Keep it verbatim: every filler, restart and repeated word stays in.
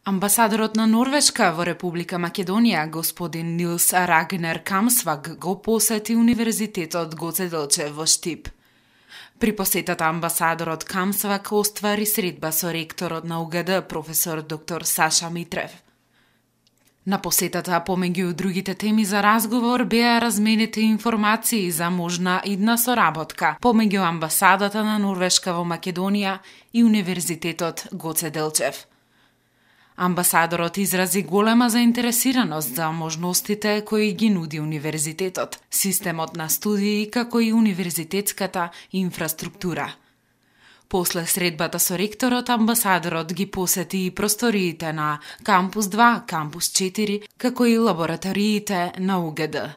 Амбасадорот на Норвешка во Република Македонија, господин Нилс Рагнер Камсваг, го посети Универзитетот Гоце Делчев во Штип. При посетата амбасадорот Камсваг оствари средба со ректорот на У Г Д, професор доктор Саша Митрев. На посетата, помеѓу другите теми за разговор, беа разменети информации за можна идна соработка помеѓу амбасадата на Норвешка во Македонија и Универзитетот Гоце Делчев. Амбасадорот изрази голема заинтересираност за можностите кои ги нуди универзитетот, системот на студии, како и универзитетската инфраструктура. После средбата со ректорот, амбасадорот ги посети и просториите на Кампус два, Кампус четири, како и лабораториите на У Г Д.